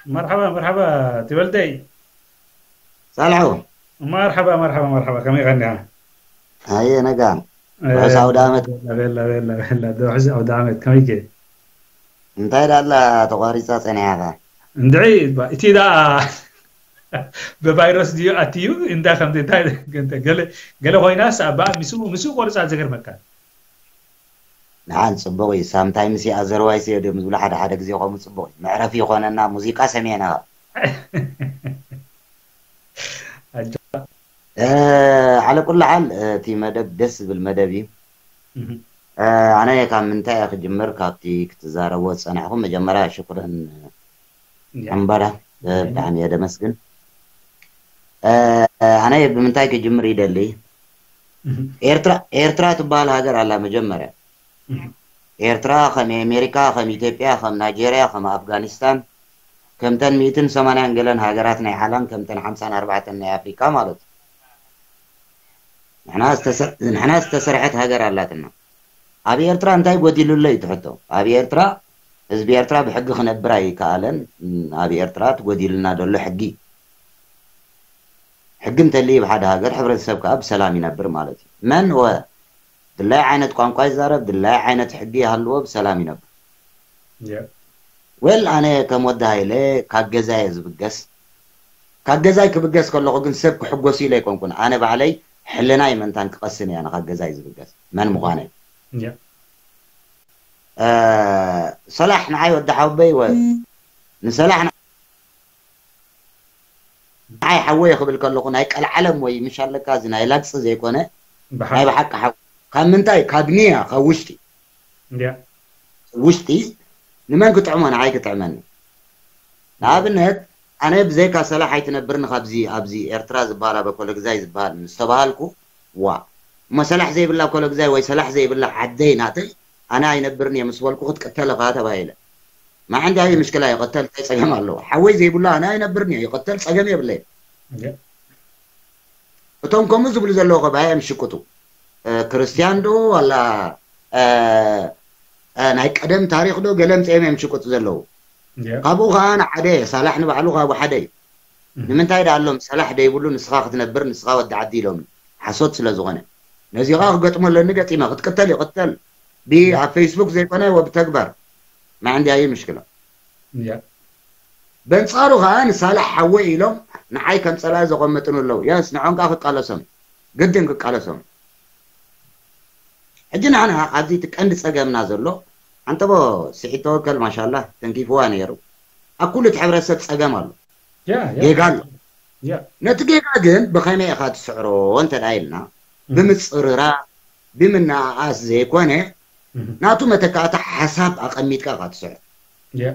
መርሓባ መርሓባ፣ ትበልተይ። ሳልሑ። መርሓባ መርሓባ መርሓባ፣ ከመይ ቀኒኻ? ኣየ ነጋ። ውሑስ ኣውደ ዓመት። ቤላ ቤላ ቤላ፣ ውሑስ ኣውደ ዓመት፣ ከመይ ከ? እንታይ ዳላ ተቋሪጻ ጸኒሓኻ? እንድዒ፣ እቲ ደኣ ብቫይረስ ድዩ ኣትዩ? እንታይ ከምቲ እንታይ ገለ ገለ ኮይናስ፣ ኣብኣ ምስኡ ምስኡ ቆርጻ፣ ዘገርመካ። ንዓን ጽቡቕ እዩ። ሳምታይምስ ኣዘርዋይስ እዮም ዝብሉ ሓደ ሓደ ግዜ፣ ከምኡ ጽቡቕ እዩ። መዕረፊ ይኾነና፣ ሙዚቃ ሰሚዕና። ኣጆኻ። እ፣ ዓለ ኩሉ ሓል፣ እ፣ እቲ መደብ ደስ ዝብል መደብ እዩ። እህ። እ፣ ኣነ ካብ ምንታይ እየ ክጅምር? ካብቲ ክትዛረቦ ዝጸናሕኹም፣ መጀመርያ ሽኩረን ያ። ዕምበራ፣ እ፣ ብጣዕሚ እየ ደመስግን። እ፣ ኣነ ብምንታይ ክጅምር ይደሊ? እህ። ኤርትራ፣ ኤርትራ ትበሃል ሃገር ኣላ መጀመርያ። እህ። ኤርትራ ከም ኣሜሪካ፣ ከም ኢትዮጵያ፣ ከም ናይጄርያ፣ ከም ኣፍጋኒስታን፣ ከምተን ሚእትን ሰማንያን ገለን ሃገራት ናይ ዓለም፣ ከምተን ሓምሳን ኣርባዕተን ናይ ኣፍሪካ ማለት እዩ። ንሕና ዝተሰ-፣ ንሕና ዝተሰርሐት ሃገር ኣላትና። ኣብ ኤርትራ እንታይ ጎዲሉሎ እዩ እቲ ሕቶ? ኣብ ኤርትራ ህዝቢ ኤርትራ ብሕጊ ክነብር ኣይከኣለን። ኣብ ኤርትራ እቲ ጎዲሉና ዘሎ ሕጊ። ሕጊ እንተልዩ፣ ብሓደ ሃገር ሕብረተሰብ ከኣ ብሰላም ይነብር ማለት እዩ። መን ወ ድላይ ዓይነት ቋንቋ ይዛረብ፣ ድላይ ዓይነት ሕጊ ይሃልዎ፣ ብሰላም ይነብር። ያ። ወል ኣነ ከም ወዲ ሃይለ ካብ ገዛይ እየ ዝብገስ። ካብ ገዛይ ክብገስ ከለኹ ግን ሰብ ክሕጎስ ኢለ ኣይኮንኩን። ኣነ ባዕለይ ሕልናይ መንታን ክቐስን እየ ኣነ ካብ ገዛይ ዝብገስ መን ምዃነይ። ያ። እ፣ ሰላሕ ንዓይ ወዲ ሓወበይ ወ-፣ ንሰላሕ ንዓይ ሓወየ ክብል ከለኹ ናይ ቀልዓለም ወይ ምሽ ኣለካ፣ እዚ ናይ ላግጺ ዘይኮነ ናይ ብሓቂ። ብሓቂ ሓው ካብ ምንታይ? ካብ ንያ፣ ካብ ውሽጢ። ያ። ውሽጢ ንመን ክጥዕሞ? ንዓይ ክጥዕመኒ። ንኣብነት ኣነ ብዘይካ ሰላሕ ኣይትነብርን፣ ካብዚ ኣብዚ ኤርትራ ዝበሃል ኣብ ኮለግዛይ ዝበሃል ምስ ተባሃልኩ፣ ዋ፣ እሞ ሰላሕ ዘይብላ ኮለግዛይ ወይ ሰላሕ ዘይብላ ዓደይ ናተይ፣ ኣነ ኣይነብርን እየ ምስ በልኩ ክትቅተል ኢኻ ተባሂለ። ማዕንዲ ኣየ ምሽክላ ይቐተል፣ እንታይ ጸገም ኣለዎ? ሓወይ ዘይብሉ ኣነ ኣይነብርን እየ፣ ይቐተል፣ ጸገም የብለይ። ያ። እቶም ከምኡ ዝብሉ ዘለዉ ኸ ባይ እዮም ሽቅጡ። እ፣ ክርስትያን ዶ ዋላ፣ እ፣ እ፣ ናይ ቀደም ታሪኽ ዶ ገለ ምጽኦም እዮም ሽቅጡ ዘለዉ። ያ። ካብኡ ኸዓ ንዓደ ሳላሕ ንባዕሉ ካብኡ ሓደ እዩ። እህ። ንምንታይ ደኣ ኣሎም ሰላሕ ደይብሉ ንስኻ ክትነብር ንስኻ ወዲ ዓዲ ኢሎም ሓሶት ስለ ዝኾነ። ነዚ ኸዓ ክገጥሞ ኣለኒ ገጢመ ክትቅተል ይቕተል። ብ-፣ ኣብ ፌስቡክ ዘይኮነ ወብተግባር። ማዕንዲ ኣየ ምሽክላ። ያ። በንጻሩ ኸዓ ንሳላሕ ሓወይ ኢሎም ንዓይ ከም ጸላኢ ዘቐመጥኑ ኣለዉ። የስ ንዖም ከኣ ክቃለሶም። ግድን ክቃለሶም። ሕጂ ንሕና ኣብዚ እቲ ቀንዲ ጸገምና ዘሎ ዓንተቦ ስዒድ ተወከል ማሻላ ተንኪፍዋ ነይሩ። ኣብ ኩሉ እቲ ሕብረተሰብ ጸገም ኣሎ። ያ፣ ያ። ጌጋ ኣሎ። ያ። ነቲ ጌጋ ግን ብኸመይ ኢኻ ትስዕሮ እንተ ደኣ ኢልና፣ እህ። ብምጽርራ፣ ብምንኣኣስ ዘይኮነ፣ እህ። ናቱ መተካእታ ሓሳብ ኣቐሚጥካ ኢኻ ትስዕሮ። ያ።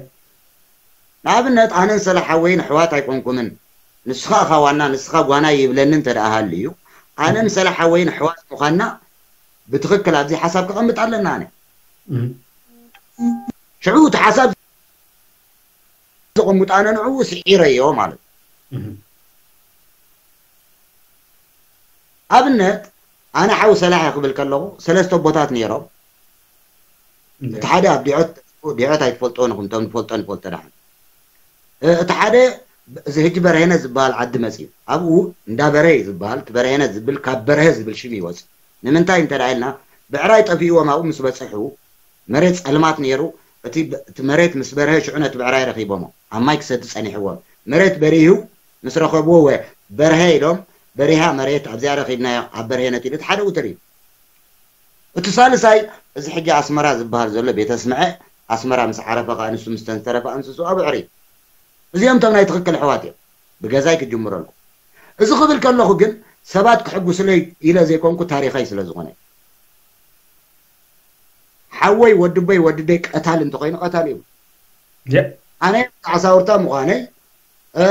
ንኣብነት ኣነን ሰላሕ ሓወይን ኣሕዋት ኣይኮንኩምን፣ ንስኻ ኢኻ ዋና፣ ንስኻ ጓና ይብለኒ እንተ ደኣ ሃልዩ፣ ኣነን ሰላሕ ሓወይን ኣሕዋት ምዃንና ብትኽክል ኣብዚ ሓሳብ ከቐምጥ ኣለና ኣነ። እህ። ሽዑ እቲ ሓሳብ ዘቐምጡ ኣነ ንዕኡ ስዒረዮ ማለት እዩ። እህ። ኣብነት ኣነ ሓው ሰላሕ እየ ክብል ከለኹ ሰለስተ ኣቦታት ነይሮም። እንደ- እቲ ሓደ ኣብ ዲዖት፣ ዲዖት ኣይትፈልጦ ንኹም፣ እቶም ንፈልጦ ንፈልጦ ደሓን። እ፣ እቲ ሓደ እዚ ሕጂ በርሄነ ዝበሃል ዓዲ መፅዩ። ኣብኡ እንዳ በርሄ እዩ ዝበሃል፣ እቲ በርሄነ ዝብል ካብ በርሀ ዝብል ሽም ይወፅእ። ንምንታይ እንተ ደኣ ኢልና ብዕራይ ጠፊእዎም ኣብኡ ምስ በፅሑ መሬት ፀልማት ነይሩ። እቲ ብ-፣ እቲ መሬት ምስ በርሀ ሽዑ ነቲ ብዕራይ ረኺቦሞ። ኣብ ማይ ክሰቲ ፀኒሕዎም። መሬት በሪሁ ምስ ረኸብዎ ወ-፣ በርሀ ኢሎም በሪሃ መሬት ኣብዚኣ ረኺብናዮ ኣብ በርሄነት ኢሉ እቲ ሓደ ውትር እዩ። እቲ ሳልሳይ እዚ ሕጂ ኣስመራ ዝበሃል ዘሎ ቤተ ስምዐ ኣስመራ ምስ ዓረፈ ከኣ ንሱ ምስ ተንሰረፈ ኣንስሱ ኣብ ዕሪ። እዚኦም እቶም ናይ ትኽክል ኣሕዋት እዮም። ብገዛይ ክጅምረልኩም። እዚ ክብል ከለኹ ግን ሰባት ክሕጉስለይ ኢለ ዘይኮንኩ ታሪኸይ ስለ ዝኾነ። ሓወይ ወድቦይ ወድደይ ቀታል እንተኾይኑ ቀታል እዩ። የ- ኣነ ዓሳውርታ ምዃነይ፣ እ፣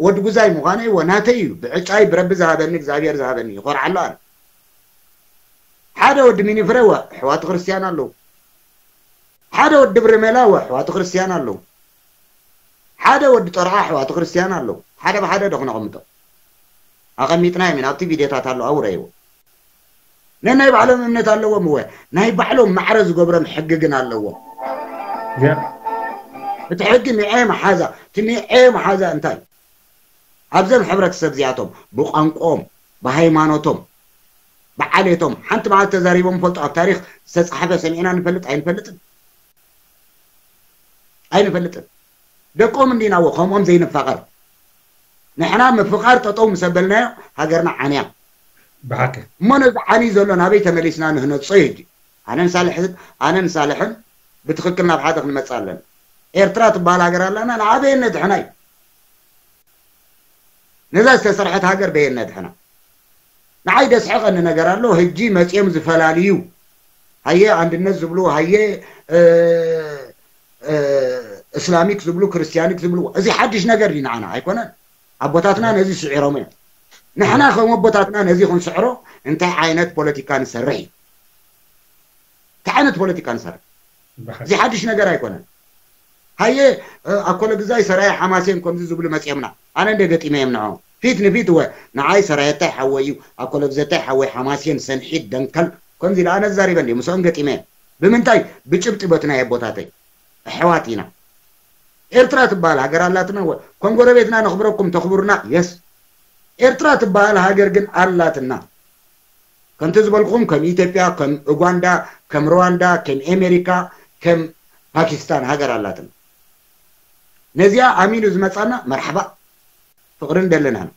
ወዲ ጉዛይ ምዃነይ ወ ናተይ እዩ። ብዕጫይ ብረቢ ዝሃበኒ እግዚኣብሔር ዝሃበኒ ይኾርዓሉ ኣነ። ሓደ ወዲ ሚኒፍረ ወ ኣሕዋት ክርስትያን ኣለዉ። ሓደ ወዲ ብርሜላ ወ ኣሕዋት ክርስትያን ኣለዉ። ሓደ ወዲ ጠርዓ ኣሕዋት ክርስትያን ኣለዉ። ሓደ ብሓደ ዶ ክነቐምጦ? ኣቐሚጥናዮም ኢና። ኣብቲ ቪድዮታት ኣሎ፣ ኣብኡ ረእይዎ። ነናይ ባዕሎም እምነት ኣለዎም እወ። ናይ ባዕሎም ማዕረ ዝገብሮም ሕጊ ግን ኣለዎም። የ- እቲ ሕጊ ንዐ መሓዛ፣ እቲ ንዐ መሓዛ እንታይ? ኣብዘም ሕብረተሰብ እዚኣቶም ብቋንቋኦም፣ ብሃይማኖቶም፣ ብዓሌቶም ሓንቲ መዓልቲ ተዛሪቦም ፈልጡ ኣብ ታሪኽ ዝተጻሕፈ ሰሚዕና ንፈልጥ ኣይንፈልጥን? ኣይንፈልጥን። ደቆም እንዲናዎ ከምኦም ዘይንፋቐር። ንሕና ምፍቓር ጠጠው ምስ ኣበልናዮ ሃገርና ዓንያ። ብሓቂ እሞ ነዚ ዓንዩ ዘሎ ናበይ ተመሊስና ንህነጾ እዩ ሕጂ? ኣነን ሳልሕን ኣነን ሳልሕን ብትኽክል ናብ ሓደ ክንመጽእ ኣለና። ኤርትራ ትበሃል ሃገር ኣላና፣ ንዓ በየን ነድሕና እዩ? ነዛ ዝተሰርሐት ሃገር በየን ነድሕና? ንዓይ ደስሕቐኒ ነገር ኣሎ። ህጂ መጽዮም ዝፈላልዩ፣ ሃየ ኣንድነት ዝብሉ፣ ሃየ እስላሚክ ዝብሉ፣ ክርስቲያኒክ ዝብሉ፣ እዚ ሓድሽ ነገር እዩ ንዓና ኣይኮነን። ኣቦታትና ነዚ ስዒሮም እዮም። ንሕና ከም ኣቦታትና ነዚ ክንስዕሮ እንታይ ዓይነት ፖለቲካ ንሰርሕ እዩ? እንታይ ዓይነት ፖለቲካ ንሰርሕ? እዚ ሓድሽ ነገር ኣይኮነን። ሃየ ኣኮለ ግዛይ ሰራየ ሓማሴን ከምዚ ዝብሉ መፅኦምና። ኣነ እንደ ገጢመ እዮም ንዖ ፊት ንፊት ወ ንዓይ ሰራየታይ ሓወይ እዩ፣ ኣኮለ ግዘታይ ሓወይ ሓማሴን ሰንሒት ደንከል ከምዚ ኢለ ኣነ ዛሪበ እንዲ ምስኦም ገጢመ እየ። ብምንታይ? ብጭብጢ በቲ ናይ ኣቦታተይ ኣሕዋት ኢና። ኤርትራ ትበሃል ሃገር ኣላትና ወ ከም ጎረቤትና ነኽብረኩም ተኽብሩና። የስ ኤርትራ ትበሃል ሃገር ግን ኣላትና። ከምቲ ዝበልኩም ከም ኢትዮጵያ፣ ከም ኡጋንዳ፣ ከም ሩዋንዳ፣ ከም ኤሜሪካ፣ ከም ፓኪስታን ሃገር ኣላትና። ነዚኣ ኣሚኑ ዝመጻና መርሓባ ፍቕርን ደለናን።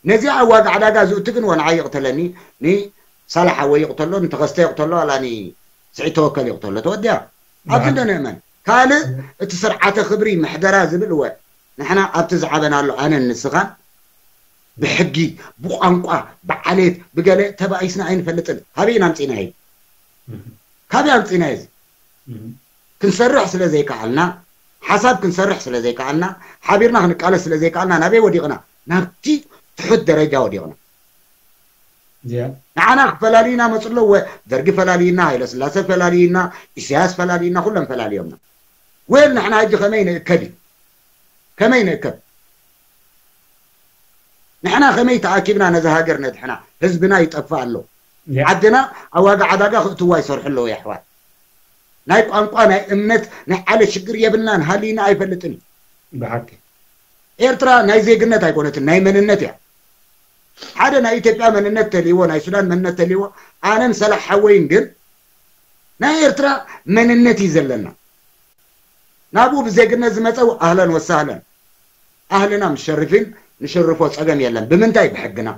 ነዚኣ ኣብ ዋጋ ዕዳጋ ዝእቱ ግን ወንዓይ ይቕተለኒ፣ ንሳላ ሓወይ ይቕተሎ፣ ንተኸስተ ይቕተሎ፣ ኣላ ንስዒድ ተወከል ይቕተሎ። ተወዲያ ኣብዚ እንደ ንእመን ካልእ እቲ ስርዓተ ክብሪ ምሕደራ ዝብል እወ ንሕና ኣብቲ ዝዓበናሉ ኣነን ንስኻን ብሕጊ ብቋንቋ ብዓሌት ብገለ ተባኢስና ኣይንፈልጥን። ካበይ ኢና ኣምፂእናዮ? ካበይ ኣምፂእናዮ? እዚ ክንሰርሕ ስለ ዘይከኣልና፣ ሓሳብ ክንሰርሕ ስለ ዘይከኣልና፣ ሓቢርና ክንቃለስ ስለ ዘይከኣልና ናበይ ወዲቕና? ናብቲ ትሑት ደረጃ ወዲቕና። ንዓና ክፈላልዩና መፁ ኣለዎ። ደርጊ ፈላልዩና፣ ሃይለስላሰ ፈላልዩና፣ ኢሳያስ ፈላልዩና፣ ኩሎም ፈላልዮምና። ወይል ንሕና ሕጂ ከመይ ንእከብ እዩ? ከመይ ንእከብ? ንሕና ከመይ ተኣኪብና ነዚ ሃገር ነድሕና? ህዝብና ይጠፍእ ኣሎ። ዓድና ኣብ ዋጋ ዕዳጋ ክእትዋ ይሰርሑ ኣለዉ የሕዋት። ናይ ቋንቋ፣ ናይ እምነት፣ ናይ ዓለ ሽግር የብልናን፣ ሃልዩና ኣይፈልጥን እዩ። ብሓቂ ኤርትራ ናይ ዜግነት ኣይኮነትን፣ ናይ መንነት እያ። ሓደ ናይ ኢትዮጵያ መንነት ተልይዎ፣ ናይ ሱዳን መንነት ተልይዎ፣ ኣነን ሰላሕ ሓወይን ግን ናይ ኤርትራ መንነት እዩ ዘለና። ናብኡ ብዜግነት ዝመጸ ኣህለን ወሳህለን። ኣህልና ምሸርፊን ንሽርፎ ጸገም የለን። ብምንታይ? ብሕግና።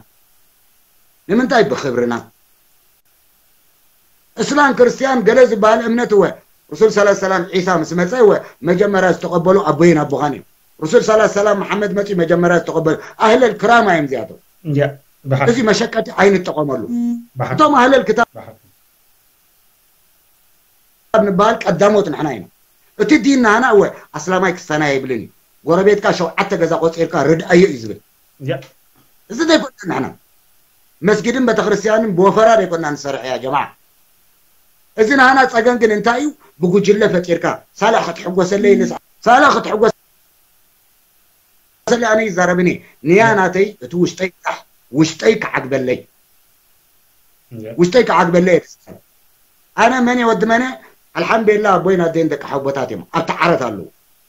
ንምንታይ? ብክብርና። እስላም ክርስቲያን ገለ ዝበሃል እምነት እወ ርሱል ሰላ ሰላም ዒሳ ምስ መጸ እወ መጀመርያ ዝተቐበሉ ኣቦይን ኣቦኻን እዮም። ርሱል ሰላ ሰላም መሓመድ መጺኡ መጀመርያ ዝተቐበሉ ኣህለል ክራማ እዮም እዚኣቶም። እንዲያ ብሓቂ እዚ መሸቀጢ ኣይንጠቐመሉ። ብሓቂ እቶም ኣህለል ክታብ ብሓቂ ንበሃል ቀዳሞት ንሕና ኢና። እቲ ዲን ናህና እወ ኣስላማይ ክስታናይ ኣይብልን እዩ። ጎረቤትካ ሸውዓተ ገዛ ቆፂርካ ርድኣዮ እዩ ዝብል። እንዲያ እዚ ዘይኮና ንሕና መስጊድን ቤተክርስትያንን ብወፈራ ዘይኮና ንሰርሕ እያ ጀማዓ። እዚ ናህና ፀገም ግን እንታይ እዩ? ብጉጅለ ፈጢርካ ሳላ ክትሕጎሰለይ ንስ ሳላ ክትሕጎሰለይ ኣነ ይዛረብኒ ንያ ናተይ እቲ ውሽጠይ ጣሕ ውሽጠይ ክዓግበለይ እንዲያ ውሽጠይ ክዓግበለይ የደስታል። ኣነ መን ወዲ መነ ኣልሓምዱሊላ ኣቦይን ኣደይን ደቂ ሓቦታት እዮም ኣብቲ ዓረት ኣለዉ።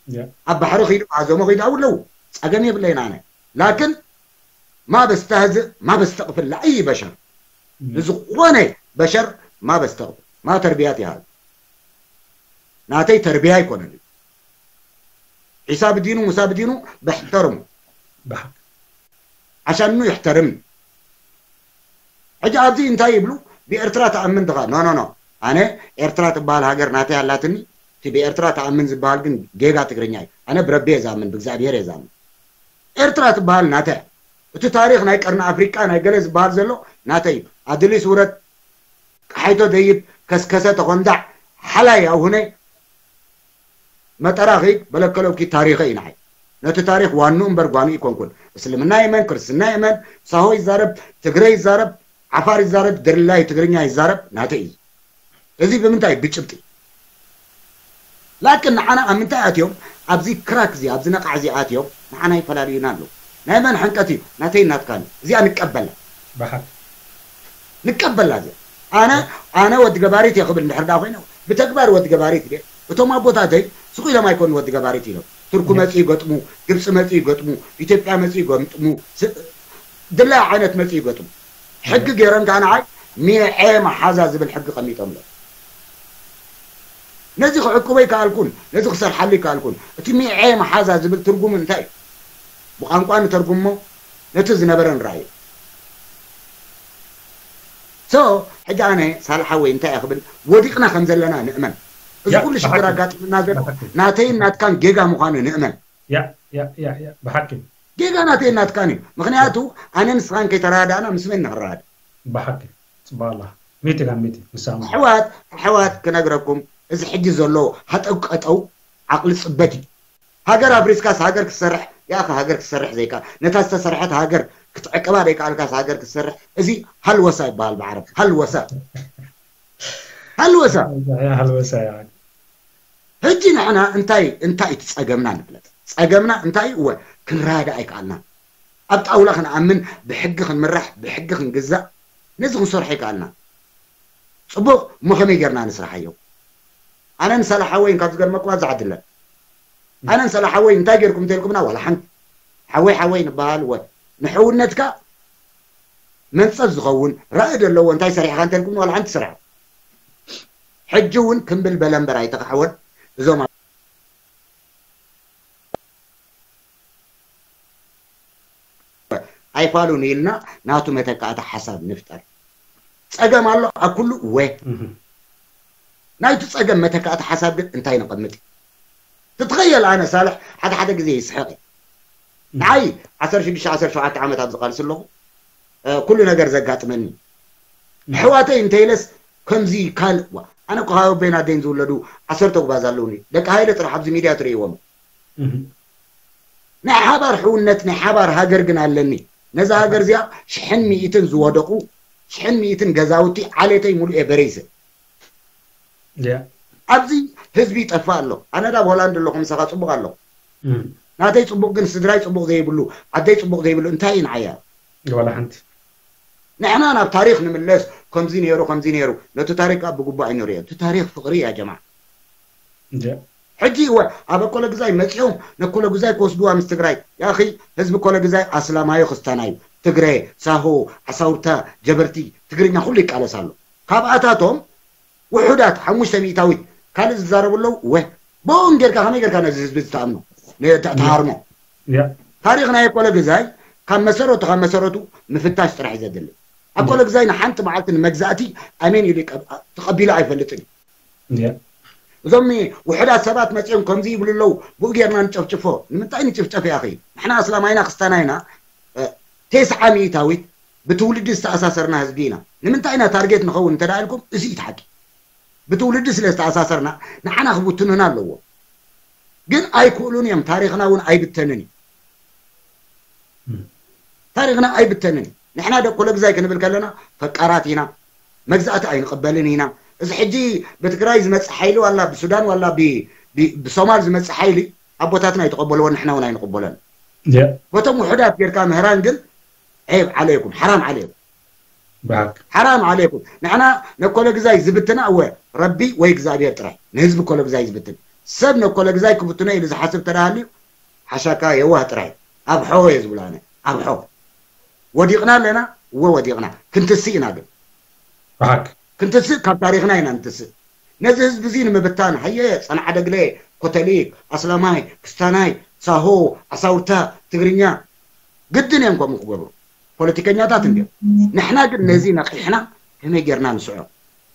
እንዲያ ኣብ ባሕሪ ኺዱ ኣዞሞ ኺዱ ኣብለዉ ፀገም የብለይን ኣነ። ላክን ማ በስተህዝእ ማ በስተቕፍል ለኣይ በሸር ንዝኾነ በሸር ማ በስተቕፍል ማ ተርቢያት ይሃሉ። ናተይ ተርቢያ ኣይኮነን እዩ። ዒሳ ብዲኑ ሙሳ ብዲኑ በሕተርሙ ብሓቂ ዓሻኑ ይሕተርም። ሕጂ ኣብዚ እንታይ ይብሉ? ብኤርትራ ተኣምን ድኻ? ኖ ኖ ኖ። ኣነ ኤርትራ ትበሃል ሃገር ናተይ ኣላትኒ። እቲ ብኤርትራ ተኣምን ዝበሃል ግን ጌጋ ትግርኛ እዩ። ኣነ ብረቢ እየ ዝኣምን፣ ብእግዚኣብሔር እየ ዝኣምን። ኤርትራ ትበሃል ናተይ እያ። እቲ ታሪኽ ናይ ቀርኒ ኣፍሪቃ ናይ ገለ ዝበሃል ዘሎ ናተይ እዩ። ኣድሊስ ውረድ፣ ቀሓይቶ ደይብ፣ ከስከሰ ተኾንዳዕ፣ ሓላይ ኣውሁነ፣ መጠራ ኺድ በለከለውኪ ታሪኸ እዩ ንዓይ። ነቲ ታሪኽ ዋንኡ እምበር ጓንኡ ይኮንኩን። እስልምና ይመን፣ ክርስትና ይመን፣ ሳሆ ይዛረብ፣ ትግረ ይዛረብ፣ ዓፋር ይዛረብ፣ ድርላይ ትግርኛ ይዛረብ፣ ናተይ እዩ። እዚ ብምንታይ? ብጭብጢ። ላክን ንዓና ኣብ ምንታይ ኣትዮም? ኣብዚ ክራክ እዚ፣ ኣብዚ ነቓዕ እዚ ኣትዮም ንዓና ይፈላልዩና ኣለዉ። ናይ መን ሕንቀት እዩ? ናተይ ናትካን እዩ። እዚኣ ንቀበላ። ብሓቂ ንቀበላ እዚኣ። ኣነ ኣነ ወዲ ገባሪት እየ ክብል እንድሕር ደኣ ኮይነ ብተግባር ወዲ ገባሪት እየ። እቶም ኣቦታተይ ስቕ ኢሎም ኣይኮኑ ወዲ ገባሪት ኢሎም። ቱርኩ መጽኡ ይገጥሙ፣ ግብጺ መጽኡ ይገጥሙ፣ ኢትዮጵያ መጽኡ ይገጥሙ፣ ስ- ድላይ ዓይነት መጽኡ ይገጥሙ። ሕጊ ገይሮም ከዓ ንዓይ ሚዔ መሓዛ ዝብል ሕጊ ቀሚጦምሎም። ነዚ ክዕቅቦ ይከኣልኩን፣ ነዚ ክሰርሓሉ ይከኣልኩን። እቲ ሚዔ መሓዛ ዝብል ትርጉሙ እንታይ እዩ? ብቋንቋ ንተርጉሞ፣ ነቲ ዝነበረ ንረኣዮ። ሶ ሕጂ ኣነ ሳልሓ ወይ እንታይ እየ ክብል፣ ወዲቕና ከም ዘለና ንእመን። እዚ ያ፣ ኩሉ ሽግር ብሓቂ። ኣጋጥምና ዘሎ ብሓቂ። ናተይን ናትካን ጌጋ ምዃኑ ንእመን። ያ ያ ያ ያ ብሓቂ ጌጋ ናተይን ናትካን እዩ። ምክንያቱ ኣነ ንስኻን ከይተረዳእና ምስ መን ንክረዳእ? ብሓቂ። ጽባላ ሚቲ ጋር ሚቲ ንሳሙ ኣሕዋት ኣሕዋት ክነግረኩም፣ እዚ ሕጂ ዘሎ ሃጠው ቀጠው ዓቕሊ ጽበት እዩ። ሃገር ኣፍሪስካስ ሃገር ክትሰርሕ ያኸ ሃገር ክትሰርሕ ዘይከኣል፣ ነታ ዝተሰርሐት ሃገር ክትዕቅባ ዘይከኣልካስ ሃገር ክትሰርሕ፣ እዚ ሃልወሳ ይበሃል ብዓረብ። ሃልወሳ። ሃልወሳ። ሃልወሳ ያ ሕጂ ንሕና እንታይ እንታይ እቲ ጸገምና ንፍለጥ። ጸገምና እንታይ እወ ክንረዳእ ኣይከኣልና። ኣብ ጣውላ ክንኣምን፣ ብሕጊ ክንምራሕ፣ ብሕጊ ክንግዛእ፣ ነዚ ክንሰርሖ ኣይከኣልና። ጽቡቕ እሞ ከመይ ጌርና ንስራሓዮ? ኣነን ሰላሓወይን ካብ ዝገርመኩም ኣብዛ ዓዲ ኣለን። ኣነን ሰላሓወይ እንታይ ጌርኩም እንተልኩምና ዋላ ሓንቲ። ሓወይ ሓወይ ንበሃል ወ ንሕውነትካ መንጸፍ ዝኸውን ራእይ ዘለዎ እንታይ ሰሪሕካ እንተልኩም ዋላ ሓንቲ ስራሕ። ሕጂ እውን ክምብል በለ እምበር ኣይተኻሕወን። እዞም ኣይፋሉን ኢልና ናቱ መተካእታ ሓሳብ ንፍጠር። ጸገም ኣሎ ኣብ ኩሉ ወ ናይቲ ጸገም መተካእታ ሓሳብ ግን እንታይ ነቐምጥ? ትትኸየል ኣነ ሳልሕ ሓደ ሓደ ግዜ ይስሕቕ። ንዓይ ዓሰርተ ሽዱሽተ ዓሰርተ ሸውዓተ ዓመት ኣብ ዝቃልስ ኣለኹ። ኩሉ ነገር ዘጋጥመኒ ኣሕዋተይ እንተይለስ ከምዚ ካልእ ዋ ኣነ እኮ ካብ ኣቦይን ኣደይን ዝውለዱ ዓሰርተ ጉባዝ ኣለውኒ። ደቂ ሃይለ ጥራሕ ኣብዚ ሚድያ ትርእይዎም። ናይ ሓባር ሕውነት ናይ ሓባር ሃገር ግን ኣለኒ። ነዛ ሃገር እዚኣ ሽሕን ሚእትን ዝወደቁ ሽሕን ሚእትን ገዛውቲ ዓሌተይ ሙሉእ እየ በሪሰ። ኣብዚ ህዝቢ ይጠፍእ ኣሎ። ኣነ ዳ ኣብ ሆላንድ ኣለኹ ምሳኻ ጽቡቕ ኣለኹ። ናተይ ጽቡቕ ግን ስድራይ ጽቡቕ ዘይብሉ ዓደይ ጽቡቕ ዘይብሉ እንታይ እዩ ንዓያ? ዋላ ሓንቲ። ንሕና ናብ ታሪኽ ንምለስ። ከምዚ ነይሩ ከምዚ ነይሩ። ነቲ ታሪኽ ከዓ ብግቡእ ኣይንርእዮ። እቲ ታሪኽ ፍቕሪ እያ ጀማዓ። ሕጂ እወ ኣብ ኣኮለግዛይ መፂኦም ነኮለጉዛይ ክወስድዋ ምስ ትግራይ ያኺ ህዝቢ ኮለግዛይ ኣስላማዩ ክስታናዩ ትግረ ሳሆ ዓሳውርታ ጀበርቲ ትግርኛ ኩሉ ይቃለስ ኣሎ። ካብኣታቶም ውሑዳት ሓሙሽተ ሚእታዊት ካልእ ዝዛረቡ ኣለዉ። ወ ብኦም ጌርካ ከመይ ጌርካ ነዚ ህዝቢ ዝተኣምኖ ተሃርሞ? ታሪኽ ናይ ኣኮለግዛይ ካብ መሰረቱ ካብ መሰረቱ ምፍታሽ ጥራሕ እዩ ዘድሊ። ኣኮለግዛይ ንሓንቲ መዓልቲ ንመግዛእቲ ኣሜን ኢሉ ተቐቢሉ ኣይፈልጥን እዩ። እዞም ውሑዳት ሰባት መፂኦም ከምዚ ይብሉ ኣለዉ ብኡ ጌርና ንጨፍጭፎ። ንምንታይ ንጭፍጨፍ ያኺ? ንሕና ኣስላማይና ክስታናይና ተስዓ ሚእታዊት ብትውልዲ ዝተኣሳሰርና ህዝቢ ኢና። ንምንታይ ኢና ታርጌት ንኸውን እንተ ኢልኩም እዚ እዩ ሓቂ። ብትውልዲ ስለ ዝተኣሳሰርና ንዓና ክብትኑና ኣለዎ። ግን ኣይክእሉን እዮም። ታሪኽና እውን ኣይብተንን እዩ። ታሪኽና ኣይብተንን እዩ። ንሕና ደቂ ኮለግዛይ ክንብል ከለና ፈቃራት ኢና። መግዛእቲ ኣይንቕበልን ኢና። እዚ ሕጂ ብትግራይ ዝመፅእ ሓይሊ ዋላ ብሱዳን ዋላ ብሶማል ዝመፅእ ሓይሊ ኣቦታትና ኣይተቐበልዎን ንሕና እውን ኣይንቕበሎን። በቶም ውሑዳት ጌርካ ምህራን ግን ዔብ ዓለይኩም ሓራም ዓለይኩም። ሓራም ዓለይኩም። ንሕና ነኮለግዛይ ዝብትና እወ ረቢ ወይ እግዚኣብሔር ጥራይ ንህዝቢ ኮለግዛይ ዝብትን ሰብ ነኮለግዛይ ክብትኖ ኢሉ ዝሓስብ ተዳሃልዩ ሓሻካ የዋህ ጥራይ። ኣብሖ እየ ዝብሎ ኣነ። ኣብሖ። ወዲቕና ኣለና። እወ ወዲቕና። ክንትስእ ኢና ግን። ብሓቂ። ክንትስእ ካብ ታሪኽና ኢና ንትስእ። ነዚ ህዝቢ እዚ ንምብታን ሃየ ጸንዓ ደግለ ኮተሊክ ኣስላማይ ክስታናይ ሳሆ ዓሳውርታ ትግርኛ ግድን እዮም ከምኡ ክገብሩ። ፖለቲከኛታት እንድዮም። ንሕና ግን ነዚ ነቒሕና ከመይ ጌርና ንስዖ?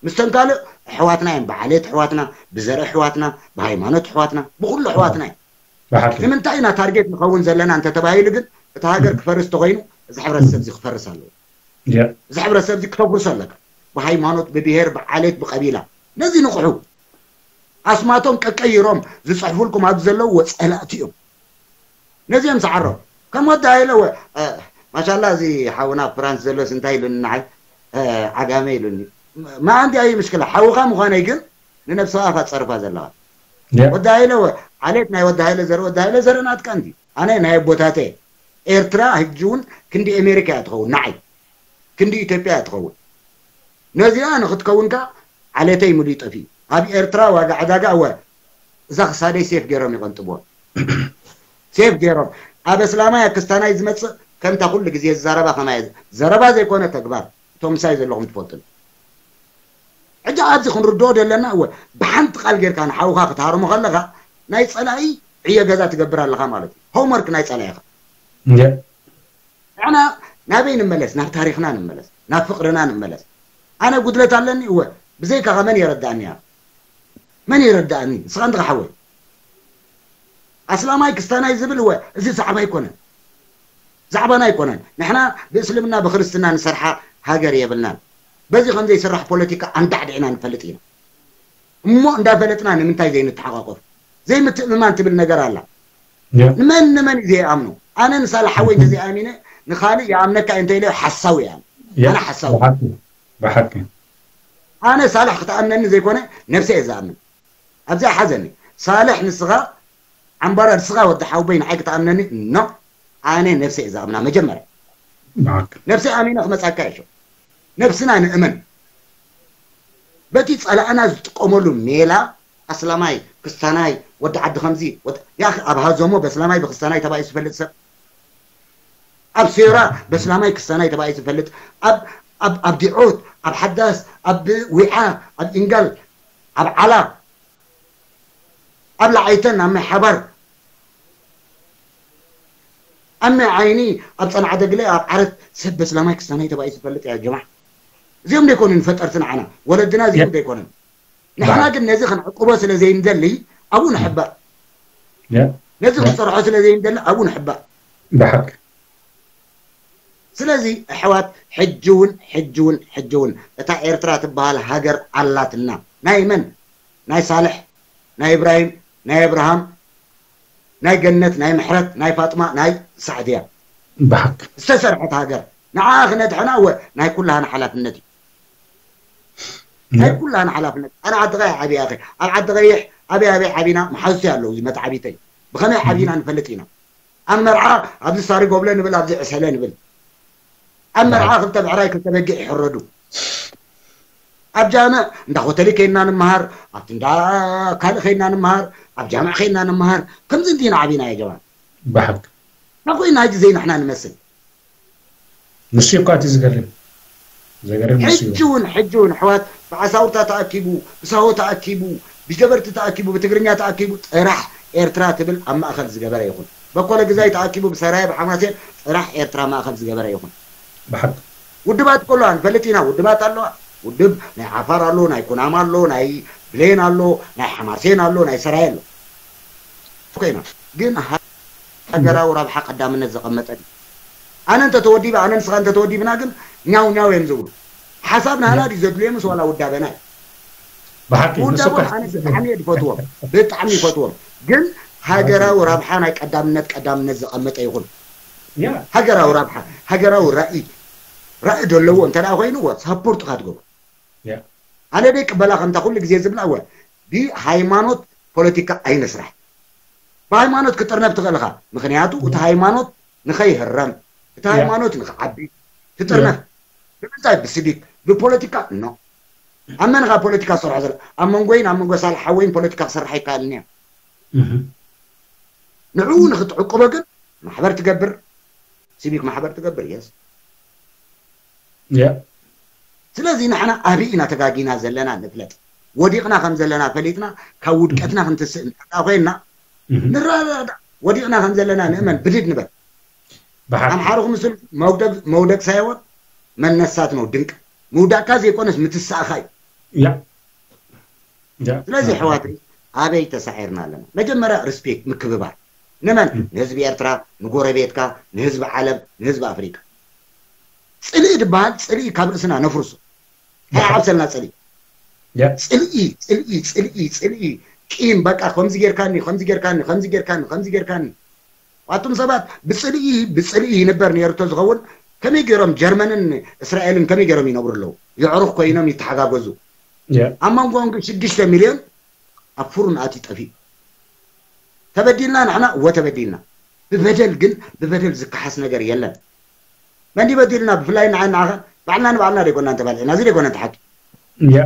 ምስተን ካልእ ኣሕዋትና እዮም። ብዓሌት ኣሕዋትና፣ ብዘርኢ ኣሕዋትና፣ ብሃይማኖት ኣሕዋትና፣ ብኹሉ ኣሕዋትና እዮም። ንምንታይ ኢና ታርጌት ንኸውን ዘለና እንተተባሂሉ ግን እቲ ሃገር ክፈርስ ተኾይኑ እዚ ሕብረተሰብ እዚ ክፈርስ ኣለዎ። እዚ ሕብረተሰብ እዚ ክተፍርሶ ኣለካ። ብሃይማኖት፣ ብብሄር፣ ብዓሌት፣ ብቀቢላ። ነዚ ንቕሑ። ኣስማቶም ቀቀይሮም ዝፅሕፉልኩም ኣብዚ ዘለዉ ጸላእቲ እዮም። ነዚኦም ሰዓሮም ከም ወዲ ሃይለ ወ ማሻላ እዚ ሓውና ፍራንስ ዘሎስ እንታይ ኢሉኒ ንዓይ ዓጋመ ኢሉኒ። ማኣንቲ ኣይ ምሽክላ ሓውኻ ምዃነይ ግን ንነብስኻ ኢኻ ትፀርፋ ዘለኻ። ወዲ ሃይለ ወ ዓሌት ናይ ወዲ ሃይለ ዘር ወዲ ሃይለ ዘር ናትካ እንዲ ኣነ ናይ ኣቦታተ ኤርትራ ሕጂ እውን ክንዲ ኣሜሪካ እያ ትኸውን ንዓይ ክንዲ ኢትዮጵያ እያ ትኸውን። ነዚኣ ንክትከውን ከ ዓሌተይ ሙሉእ ጠፊኡ ኣብ ኤርትራ ዋጋ ዕዳጋ እወ እዛ ክሳደይ ሴፍ ገይሮም ይቐንጥብዎ። ሴፍ ገይሮም ኣብ ኣስላማይ ኣብ ክስታናይ ዝመጽእ ከምታ ኩሉ ግዜ ዝዛረባ ከማየ ዘረባ ዘይኮነ ተግባር እቶም ምሳይ ዘለኹም ትፈልጡ። ሕጂ ኣብዚ ክንርድኦ ዘለና እወ ብሓንቲ ቃል ጌርካ ንሓውኻ ክትሃርሞ ከለኻ ናይ ጸላኢ ዕዮ ገዛ ትገብር ኣለኻ ማለት እዩ። ሆምወርክ ናይ ጸላኢኻ። ንሕና ናበይ ንመለስ? ናብ ታሪኽና ንመለስ፣ ናብ ፍቕርና ንመለስ። ኣነ ጉድለት ኣለኒ እወ፣ ብዘይካኻ መን የረዳእኒ? መን የረዳእኒ? ንስኻ እንድኻ ሓወይ ኣስላማይ ክስታናይ ዝብል እወ፣ እዚ ዛዕባ ኣይኮነን፣ ዛዕባና ኣይኮነን። ንሕና ብእስልምና ብክርስትና ንሰርሓ ሃገር የብልናን። በዚ ከም ዘይስራሕ ፖለቲካ ኣንዳዕዲዕና ንፈልጥ ኢና። እሞ እንዳፈለጥና ንምንታይ ዘይንተሓቋቆፍ? ዘይምትእምማን ትብል ነገር ኣላ። ንመን ንመን እዩ ዘይኣምኖ? ኣነ ንሳልሕ ሓወይ እንተዘይኣሚነ ንኻልእ ይኣምነካ እንተ ኢለ ሓሳዊ እየ። ኣነ ሓሳዊ ብሓቂ ኣነ ሳልሕ ክትኣምነኒ ዘይኮነ ነብሰ እየ ዝኣምን። ኣብዚኣ ሓዘኒ ሳልሕ ንስኻ ዓምባራ ንስኻ ወዲ ሓውበይ ንዓይ ክትኣምነኒ ኖ ኣነ ነብሰ እየ ዝኣምና መጀመርያ ነብሰ ኣሚነ ክመፃካ እየ ነብስና ንእመን በቲ ፀላእና ዝጥቀመሉ ሜላ ኣስላማይ ክስታናይ ወዲ ዓዲ ከምዚ ወዲ- ያኺ ኣብ ሃዞሞ በስላማይ ብክስታናይ ተባኢሱ ዝፈልጥ ሰብ ኣብ ሴራ በስላማይ ክስታናይ ተባኢሱ ዝፈልጥ ኣብ ኣብ ኣብ ዲዖት ኣብ ሓዳስ ኣብ ዊዓ ኣብ ኢንጋል ኣብ ዓላ ኣብ ላዓይተን ኣብ ማይ ሓባር ኣብ ማይ ዓይኒ ኣብ ፀንዓ ደግለ ኣብ ዓረት ሰብ በስላማይ ክስታናይ ተባኢሱ ዝፈልጥ ያ ጀማዓ እዚኦም ዘይኮኑን ፈጠርቲ ንዓና ወለድና እዚኦም ዘይኮኑን ንሕና ግን ነዚ ክንዕቅቦ ስለ ዘይንደሊ ኣብኡ ንሕባእ ነዚ ክንሰርሖ ስለ ዘይንደሊ ኣብኡ ንሕባእ ብሓቂ ስለዚ ኣሕዋት ሕጂ እውን ሕጂ እውን ሕጂ እውን እታ ኤርትራ ትበሃል ሃገር ኣላትና ናይ መን ናይ ሳልሕ ናይ እብራሂም ናይ ኣብርሃም ናይ ገነት ናይ ምሕረት ናይ ፋጥማ ናይ ሳዕድያ ብሓቂ ዝተሰርሐት ሃገር ንዓ ክነድሕና እወ ናይ ኩላህና ሓላፍነት እዩ ናይ ኩላህና ሓላፍነት ኣነ ዓዲ ቀይሕ ዓብየ ኣኸ ኣብ ዓዲ ቀይሕ ኣበይ ኣበይ ዓቢና መሓዙቲ ኣለዉ እዚ መትዓቢተይ ብኸመይ ዓቢና ንፈልጥ ኢና ኣብ መርዓ ኣብዚ ሳሪ ጎብለ ንብል ኣብዚ ዕሰለ ንብል ኣብ መርዓ ክልተ ብዕራይ ክልተ በጊዕ ይሕረዱ ኣብ ጃምዕ እንዳ ሆተሊ ከይና ንምሃር ኣብቲ እንዳ ካልእ ከይና ንምሃር ኣብ ጃምዕ ከይና ንምሃር ከምዚ እንዲና ዓቢና ያ ጀማል ብሓቂ ናኮይና ሕጂ ዘይናሕና ንመስል ንሱ እኳ እቲ ዝገርም ዘገርም ንሱ ሕጂ እውን ሕጂ እውን ኣሕዋት ብዓሳውርታ ተኣኪቡ ብሳሆ ተኣኪቡ ብጀበርቲ ተኣኪቡ ብትግርኛ ተኣኪቡ ጥራሕ ኤርትራ ትብል ኣብ ማእኸል ዝገበረ ይኹን በኮለ ግዛይ ተኣኪቡ ብሰራየ ብሓማሴን ጥራሕ ኤርትራ ማእኸል ዝገበረ ይኹን ብሓቂ ውድባት ከለዋ ንፈልጥ ኢና ውድባት ኣለዋ ውድብ ናይ ዓፋር ኣሎ ናይ ኩናማ ኣሎ ናይ ብሌን ኣሎ ናይ ሓማሴን ኣሎ ናይ ሰራየ ኣሎ ኮይና ግን ሃገራዊ ረብሓ ቀዳምነት ዘቐመጠ ድዩ ኣነ እንተተወዲበ ኣነ ንስኻ እንተተወዲብና ግን ኛው ኛው እዮም ዝብሉ ሓሳብ ናህና ድዩ ዘድልዮ ምስ ዋላ ውዳበና እዩ ብሓቂ ንሱ ውዳቦም እኮ ኣነ ብጣዕሚ እየ ዝፈትዎም ብጣዕሚ ይፈትዎም ግን ሃገራዊ ረብሓ ናይ ቀዳምነት ቀዳምነት ዘቐመጠ ይኹን ያ ሃገራዊ ረብሓ ሃገራዊ ራእይ ራእይ ዘለዎ እንተ ደኣ ኮይንዎ ሳፖርት ኢኻ ትገብሮ ያ ኣነ ደይ ቅበላ ከምታ ኩሉ ግዜ ዝብላ እወ ብሃይማኖት ፖለቲካ ኣይንስራሕ ብሃይማኖት ክጥርነፍ ትኽእል ኢኻ ምኽንያቱ እቲ ሃይማኖት ንኸይህረም እቲ ሃይማኖት ንኽዓቢ ትጥርነፍ ብምንታይ ብስዲት ብፖለቲካ ኖ ኣብ መን ኢኻ ፖለቲካ ዝሰርሖ ዘሎ ኣብ መንጎይን ኣብ መንጎ ሳልሕ ሓወይን ፖለቲካ ክሰርሕ ኣይከኣልን እየ ንዕኡ ንኽትዕቅቦ ግን ማሕበር ትገብር ሲቪክ ማሕበር ትገብር የስ ያ ስለዚ ንሕና ኣበይ ኢና ተጋጊና ዘለና ንፍለጥ ወዲቕና ከም ዘለና ፈሊጥና ካብ ውድቀትና ክንትስእ እንተዳ ኮይንና ንረዳዳ ወዲቕና ከም ዘለና ንእመን ብድድ ንበል ብሓቂ ኣምሓሩ ክምስል መውደቅ መውደቅ ሳይሆን መነሳት ነው ድንቅ ምውዳቅካ ዘይኮነስ ምትሳእኻ እዩ ያ ያ ስለዚ ኣሕዋተይ ኣበይ ተሳዒርና ኣለና መጀመርያ ሪስፔክት ምክብባር ንመን ንህዝቢ ኤርትራ ንጎረቤትካ ንህዝቢ ዓለም ንህዝቢ ኣፍሪቃ ጽልኢ ዝበሃል ጽልኢ ካብ ርእስና ነፍርሶ እንታይ ዓብሰልና ጽልኢ ያ ጽልኢ ጽልኢ ጽልኢ ጽልኢ ቂም በቃ ከምዚ ጌርካኒ ከምዚ ጌርካኒ ከምዚ ጌርካኒ ከምዚ ጌርካኒ ኣቱም ሰባት ብጽልኢ ብጽልኢ ይንበር ነይሩ ተዝኸውን ከመይ ገይሮም ጀርመንን እስራኤልን ከመይ ገይሮም ይነብሩ ኣለዉ የዕሩኽ ኮይኖም ይተሓጋገዙ ያ ኣብ መንጎኦም ግን ሽዱሽተ ሚልዮን ኣብ ፍሩን ኣትዩ ጠፊኡ ተበዲልና ንሕና እወ ተበዲልና ብበደል ግን ብበደል ዝከሓስ ነገር የለን መን በዲልና ብፍላይ ንዓይ ንዓኸ ባዕልና ንባዕልና ደይኮና እንተባልዕና እዚ ደይኮነ እንተ ሓቂ ያ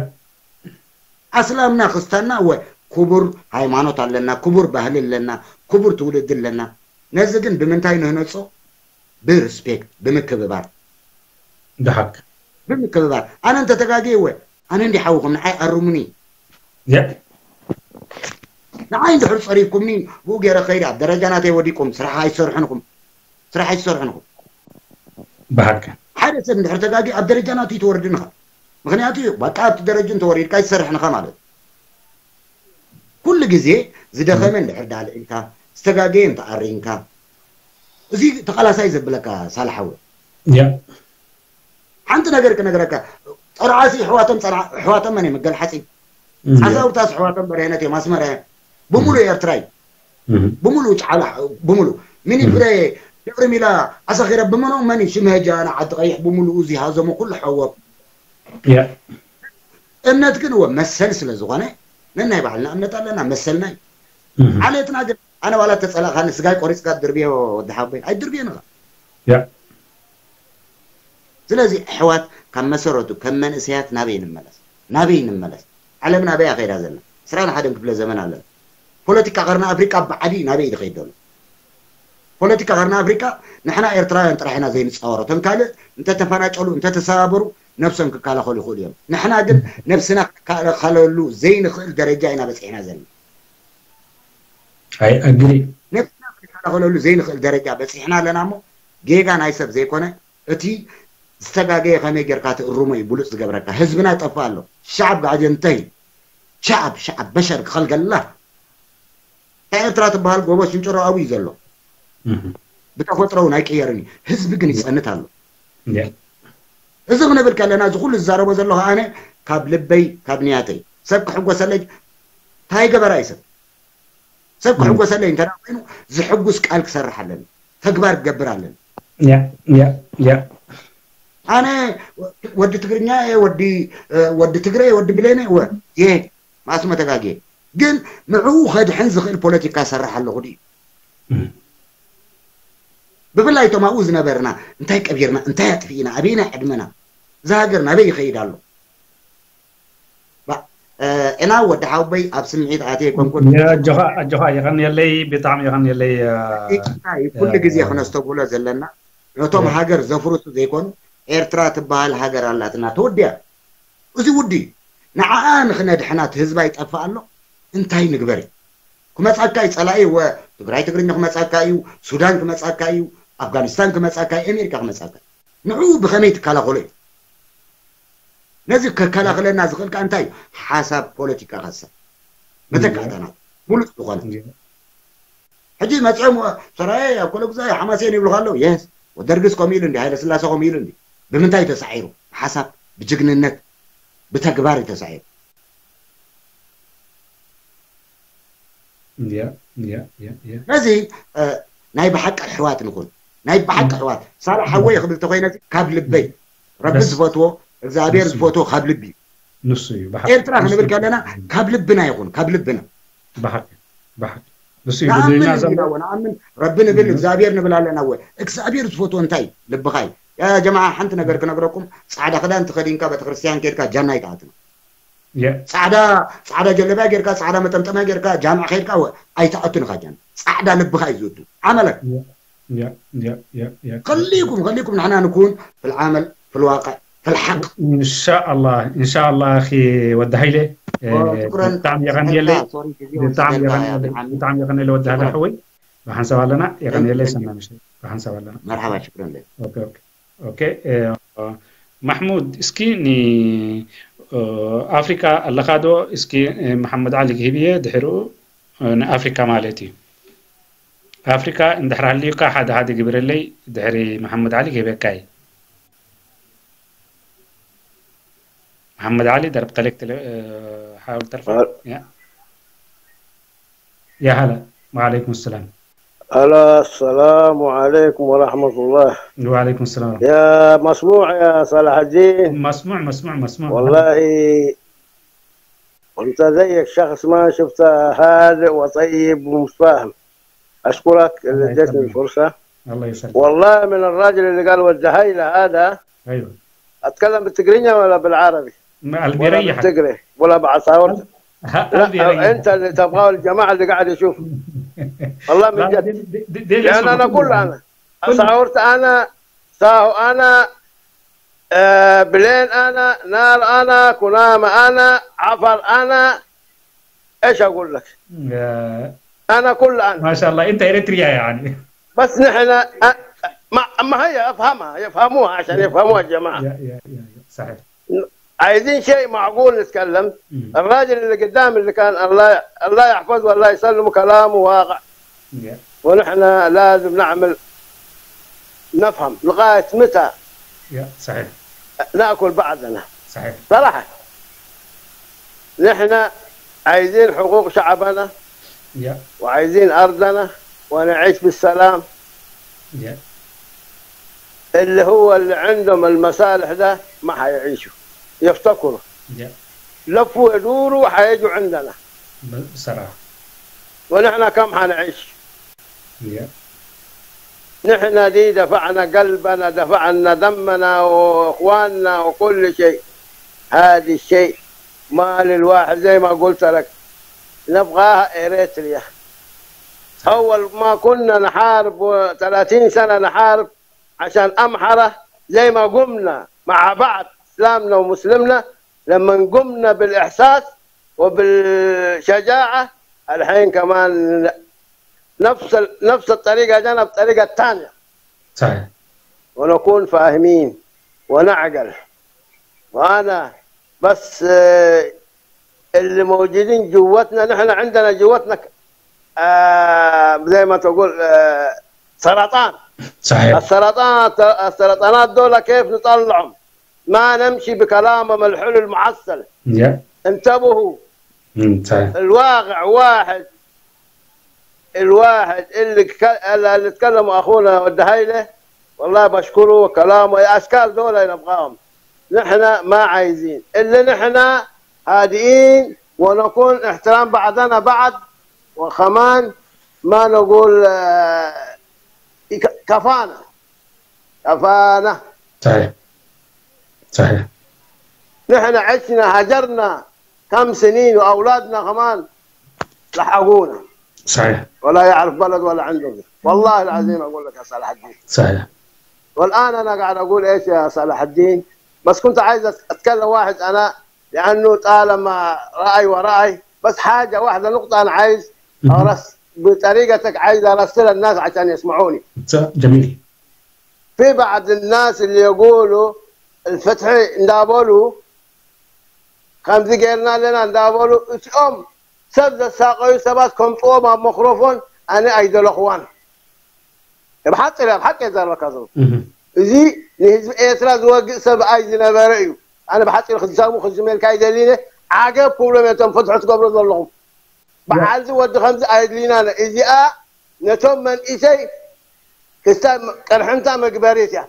ኣስላምና ክስታና እወ ክቡር ሃይማኖት ኣለና፣ ክቡር ባህሊ ኣለና፣ ክቡር ትውልዲ ኣለና። ነዚ ግን ብምንታይ ንህነጾ? ብሪስፔክት፣ ብምክብባር። ብሓቂ ብምክብባር። ኣነ እንተተጋግየ እወ ኣነ እንዲ ሓውኹም ንዓይ ኣርሙኒ። ያ ንዓይ እንድሕር ጸሪፍኩምኒ ብኡ ገይረ ከይደ ኣብ ደረጃ ናተይ ወዲቁም ስራሕ ኣይትሰርሑን ኢኹም። ስራሕ ኣይትሰርሑን ኢኹም። ብሓቂ ሓደ ሰብ እንድሕር ተጋጊ ኣብ ደረጃ ናቱ ይትወርድን ኢኻ። ምክንያቱ በቃ ኣብቲ ደረጅ እንተወሪድካ ይትሰርሕን ኢኻ ማለት እዩ። ኩሉ ግዜ ዝደኸመ እንድሕር ዳልዒልካ ዝተጋገየ እንተኣሪንካ እዚ ተቓላሳይ ዘብለካ ሳልሓወ ያ ሓንቲ ነገር ክነግረካ። ጠርዓሲ ኣሕዋቶም ጸርዓ ኣሕዋቶም መን እዮም? ገልሓጺ ሓሳውታስ ኣሕዋቶም በርሄነት እዮም ኣስመራ እዮም። ብምሉእ ኤርትራ እዩ። ብምሉእ ጫላ ብምሉእ ሚኒፍረ ድሕሪ ሚላ ዓሳኺረ ብምኖ መን እዩ ሽመጃ ንዓዲ ቀይሕ ብምሉኡ እዚ ሃዘሞ ኩሉ ሓወብ ያ እምነት ግን እወ መሰል ስለ ዝኾነ ነናይ ባዕልና እምነት ኣለና መሰልና እዩ። ዓሌትና ግን ኣነ ዋላ ተጸላእካኒ ስጋይ ቆሪጽካ ድርብዮ ወዲ ሓቦይ ኣይድርብዮን ኢኻ። ያ ስለዚ ኣሕዋት ካብ መሰረቱ ከም መንእሰያት ናበይ ንመለስ ናበይ ንመለስ ዓለም ናበይ ኣኸይዳ ዘላ ዕስራን ሓደን ክፍለ ዘመን ኣለና። ፖለቲካ ቀርኒ ኣፍሪቃ ብዓዲ ናበይ ዝኸይድ ዘሎ? ፖለቲካ ቀርኒ ኣፍሪቃ ንሕና ኤርትራውያን ጥራሕ ኢና ዘይንጻወሮ። እቶም ካልእ እንተተፈናጨሉ እንተተሰባበሩ ነብሶም ክከላኸሉ ይኽእሉ እዮም። ንሕና ግን ነብስና ክከላኸለሉ ዘይንኽእል ደረጃ ኢና በጺሕና ዘለና። I agree ነብስና ክከላኸለሉ ዘይንኽእል ደረጃ በጺሕና ኣለና እሞ ጌጋ ናይ ሰብ ዘይኮነ እቲ ዝተጋገየ ከመይ ጌርካ ትእርሞ እዩ ብሉፅ ዝገብረካ። ህዝብና ይጠፍእ ኣሎ። ሸዓብ ጋዕጀ እንተይ ሸዓብ ሸዓብ በሸር ክኸልገላ እታ ኤርትራ ትበሃል ጎቦ ሽንጭሮ ኣብኡ እዩ ዘሎ። ብተፈጥሮ እውን ኣይቅየርን እዩ። ህዝቢ ግን ይፀንት ኣሎ። እዚ ክንብል ከለና እዚ ኩሉ ዝዛረቦ ዘለኹ ኣነ ካብ ልበይ ካብ ንያተይ ሰብ ክሕጎሰለይ እንታይ ገበራ እዩ ሰብ ሰብ ክሕጎሰለይ እንተ ኮይኑ ዝሕጉስ ቃል ክሰርሕ ኣለኒ ተግባር ክገብር ኣለኒ። ያ ያ ያ ኣነ ወዲ ትግርኛ እየ ወዲ ወዲ ትግረ እየ ወዲ ብሌነ እወ እየ ማእስመ ተጋግየ ግን ንዕኡ ከድሕን ዝኽእል ፖለቲካ ሰርሕ ኣለኹ ድዩ? ብፍላይ እቶም ኣብኡ ዝነበርና እንታይ ቀቢርና እንታይ ኣጥፊእና ኣበየናይ ዕድመና እዛ ሃገር ናበይ ይኸይድ ኣሎ? ባ- እ፣ ዕናው ወዲ ሓውበይ ኣብ ስምዒት ኣትየ ኣይኮንኩን። ኣጆኻ ኣጆኻ የቐንየለይ ብጣዕሚ የቐንየለይ። እ፣ ይቅርታ እዩ ኩሉ ግዜ ክነስተብህሎ ዘለና ነቶም ሃገር ዘፍርሱ ዘይኮኑ ኤርትራ ትበሃል ሃገር ኣላትና ተወዲያ። እዚ ውዲ ንዓኣ ንክነድሕና እቲ ህዝባ ይጠፍእ ኣሎ እንታይ ንግበር እዩ? ክመጻካ እዩ ጸላኢ ወ ትግራይ ትግርኛ ክመጻካ እዩ ሱዳን ክመጻካ እዩ ኣፍጋኒስታን ክመጻካ እዩ ኣሜሪካ ክመጻካ እዩ ንዕኡ ብኸመይ ትከላኸሎ እዩ? ነዚ ከከላኸለና ዝኽእል ከኣ እንታይ እዩ? ሓሳብ ፖለቲካ ከሰብ መተካእታናት ሙሉእ ዝኾነ ሕጂ መፅኦም ሰራየ ኣብ ኮለጉዛይ ሓማሴን ይብሉካ ኣለዉ የስ ወደርግስ ከምኡ ኢሉ እንዲ ሃይለ ስላሴ ከምኡ ኢሉ እንዲ ብምንታይ ተሳዒሩ ብሓሳብ ብጅግንነት ብተግባር እዩ ተሳዒሩ ያ ያ ያ ያ ስለዚ ናይ ብሓቂ ኣሕዋት ንኹን ናይ ብሓቂ ኣሕዋት ሳላ ሓወይ ክብል ተኮይነ ካብ ልበይ ረቢ ዝፈትዎ እግዚኣብሔር ዝፈትዎ ካብ ልቢ እዩ ንሱ እዩ ብሓቂ ኤርትራ ክንብል ከለና ካብ ልብና ይኹን ካብ ልብና ብሓቂ ብሓቂ ንሱ እዩ ብድልና ንኣምን ዘሎ ኢና ወ ንኣምን ረቢ ንብል እግዚኣብሔር ንብል ኣለና ወ እግዚኣብሔር ዝፈትዎ እንታይ እዩ? ልብኻ እዩ ያ ጀማዓ ሓንቲ ነገር ክነግረኩም ፃዕዳ ክዳን ተኸዲንካ ቤተክርስትያን ከድካ ጃና ይትኣትን ያ ፃዕዳ ፃዕዳ ጀለብያ ጌርካ ፃዕዳ መጠምጠምያ ጌርካ ጃምዕ ከይድካ ወ ኣይትኣቱን ኢኻ ጃና ፃዕዳ ልብኻ እዩ ዝእቱ ዓመለክ ያ ያ ያ ያ خليكم خليكم ንሕና ንኩን في العمل في الواقع في الحق ኢንሻኣላ ኢንሻኣላ ኣኺ ወዲ ሃይለ እ፣ ሽኩረን ብጣዕሚ የቐንየለይ ሶሪ ግዜ ብጣዕሚ ወሲደልካ የቐንየለይ ብሓሚ ብጣዕሚ የቐንየለይ ወዲ ሃይለ ሽኩረን ሓወይ ብሓንሳብ ኣለና የቐንየለይ Thank you. ሰናይ ምሽት ብሓንሳብ ኣለና መርሓባ ሽኩረን ለይ ኦኬ ኦኬ ኦኬ እ፣ ማሕሙድ እስኪ ን እ፣ ኣፍሪካ ኣለካ ዶ እስኪ እ፣ መሓመድ ዓሊ ክህብየ ድሕርኡ እ፣ ንኣፍሪካ ማለት እዩ ኣፍሪካ እንድሕር ሃልዩካ ሓደ ሓደ ግብረለይ ድሕሪ መሓመድ ዓሊ ክህበካ እዩ መሓመድ ዓሊ ደርብ ተለክ ተለ እ፣ ሓውል ተርፋ አ- ያ يا هلا وعليكم السلام ألا السلام عليكم ورحمة الله وعليكم السلام يا مسموع يا صلاح الدين مسموع مسموع مسموع والله أنت زيك شخص ما شفته هادئ وطيب ومتفاهم أشكرك اللي الله اديتني يسلمك. الفرصة الله يسلمك والله من الراجل اللي قال وجهي له هذا ايوه أتكلم بالتقرينيا ولا بالعربي ما قلبي ولا يريحك بالتقري ولا بعصاورته لا، انت اللي تبغاه، الجماعه اللي قاعد يشوفوا. والله من جد. لان انا كل انا اساورت انا، ساهو انا، آه، بلين انا، نار انا، كنامه انا، عفر انا، ايش اقول لك؟ انا كل انا. ما شاء الله، انت اريتريا يعني. بس نحن أ- ما, ما هي افهمها، يفهموها عشان يفهموها الجماعه. يا يا يا يا، صحيح. عايزين شيء معقول نتكلم. الراجل اللي قدام اللي كان الله الله يحفظه والله يسلمه كلامه واقع، يا ونحن لازم نعمل، نفهم لغايه متى يا صحيح. ناكل بعضنا. صحيح. صراحه نحن عايزين حقوق شعبنا يا وعايزين ارضنا ونعيش بالسلام. يا اللي هو اللي عندهم المصالح ده ما حيعيشوا، يفتكروا يا لفوا يدوروا حيجوا عندنا، ب- بصراحه. ونحن كم حنعيش؟ يا نحن دي دفعنا قلبنا، دفعنا دمنا واخواننا وكل شيء. هذا الشيء ما للواحد، زي ما قلت لك، نبغاها اريتريا. اول ما كنا نحارب و30 سنه نحارب عشان امحره، زي ما قمنا مع بعض اسلامنا ومسلمنا، لما قمنا بالاحساس وبالشجاعه، الحين كمان نفس ال- نفس الطريقه جانا بطريقه ثانيه، صحيح. ونكون فاهمين ونعقل. وانا بس آه، اللي موجودين جوتنا، نحن عندنا جوتنا ك- آه، زي ما تقول آه، سرطان. صحيح. السرطان، السرطانات دول كيف نطلعهم؟ ما نمشي بكلامهم الحلو المعسل. يا انتبهوا. مم، صحيح. الواقع واحد، الواحد اللي ك- اللي تكلم اخونا والدهيله، والله بشكره كلامه. اشكال دول نبغاهم، نحن ما عايزين الا نحن هادئين ونكون احترام بعضنا بعض، وكمان ما نقول آه، ك- كفانا، كفانا. صحيح. صحيح. نحن عشنا هجرنا كم سنين، واولادنا كمان لحقونا، صحيح. ولا يعرف بلد ولا عنده. والله العظيم اقول لك يا صلاح الدين، صحيح. والان انا قاعد اقول ايش يا صلاح الدين؟ بس كنت عايز اتكلم واحد انا، لانه طالما راي وراي، بس حاجه واحده، نقطه انا عايز ارس بطريقتك، عايز ارسل الناس عشان يسمعوني. جميل. في بعض الناس اللي يقولوا الفتح ندابلو خمزي غيرنا لنا ندابلو اسئهم سب زساقيو سبات كم طوما مخروفون انا ايدل اخوان. بحق لا بحق يزار كذو. مهم. እዚ ንህዝቢ ኤርትራ ዝወግእ ሰብኣይ ዝነበረ እዩ። ኣነ ብሓፂሩ ክዛሙ ክዝመልካ ይደሊነ። ዓገብ ክብሎም እቶም ፍትሒ ትገብሩ ዘለኹም። በዓልዚ ወዲ ከምዚ ኣየድልይናን እዚኣ ነቶም መንእሰይ ክስታይ ቅርሕንታ መግበሪት እያ።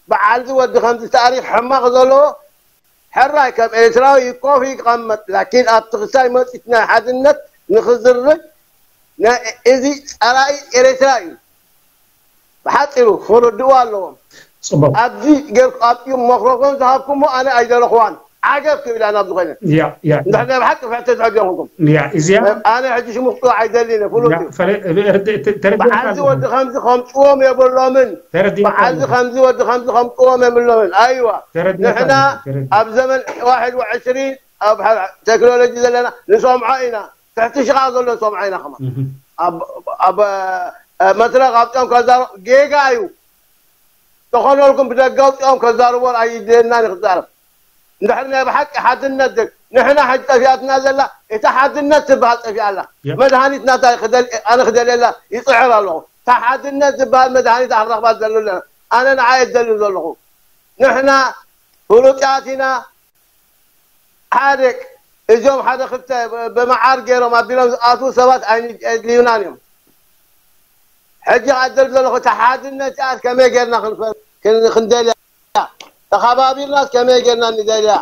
በዓልዚ ወዲ ከምዚ ታሪክ ሕማቅ ዘለዎ ሕራይ ከም ኤርትራዊ ይኮፍ ይቀመጥ ላኪን ኣብቲ ክስታይ መፂት ናይ ሓድነት ንክዝርግ ናይ እዚ ፀላኢ ኤርትራ እዩ። ብሓፂሩ ክርድእዎ ኣለዎም። ፅቡቅ። ኣብዚ ጌርኩ ኣብኡ መክሮፎን ዝሃብኩሞ ኣነ ኣይደለኽዋን። ዓገብ ክብል ኣነ ኣብዚ ኮይነ። ያ ያ እንድሕር ናይ ብሓቂ ፍሕቲ ትሕጊ ይኹንኩም። ያ እዚኣ ኣነ ሕጂ ሽሙ ክፅዋዕ ኣይደልን እየ ፍሉጥ ያ እዩ። ፈለ- ርድ- ተ- ተረዲእካ በዓልዚ ኣለኹ። ወዲ ከምዚ ከምፅዎም የብሎምን። ተረዲእካ በዓልዚ ኣለኹ። ከምዚ ወዲ ከምዚ ከምፅዎም የብሎምን። ኣይዋ ተረዲእካ ንሕና ኣለኹ። ተረዲእካ። ኣብ ዘመን ዋሕድ ወዕስሪን ኣብ ቴክኖሎጂ ዘለና ንሰምዖ ኢና። ትሕቲ ሽቓቕ ዘሎ ንሰምዖ ኢና ከማ እህ። ኣብ ኣብ መድረኽ ኣብፅኦም ከዛረቡ ጌጋ እዩ። ተኾነልኩም ብደገ ኣውፅኦም ከዛርቦን ኣይድልየናን እዩ ክዛረብ። እንድሕር ናይ ብሓቂ ሓድነት ደ ንሕና ሕጂ ጠፊኣትና ዘላ እታ ሓድነት ትበሃል ጠፊኣ ኣላ። ያ። መድሃኒት ናታ ክደል- ኣነ ክደልየላ ይፅዕር ኣለኹ። እታ ሓድነት ዝበሃል መድሃኒት ኣክረኽባ ዘሎ ኣለና። ኣነ ንዓ የደልን ዘለኹ ንሕና ፍሉጣት ኢና። ሓደ እዞም ሓደ ክልተ ብመዓር ገይሮም ኣቢሎም ዝኣትዉ ሰባት ኣይድልዩናን እዮም። ሕጂ ኣደል ዘለኹ እታ ሓድነት እያ ከመይ ጌርና ክንፈ- ክን- ክንደልያ ተኸባቢርናስ ከመይ ጌርና ንደልያ።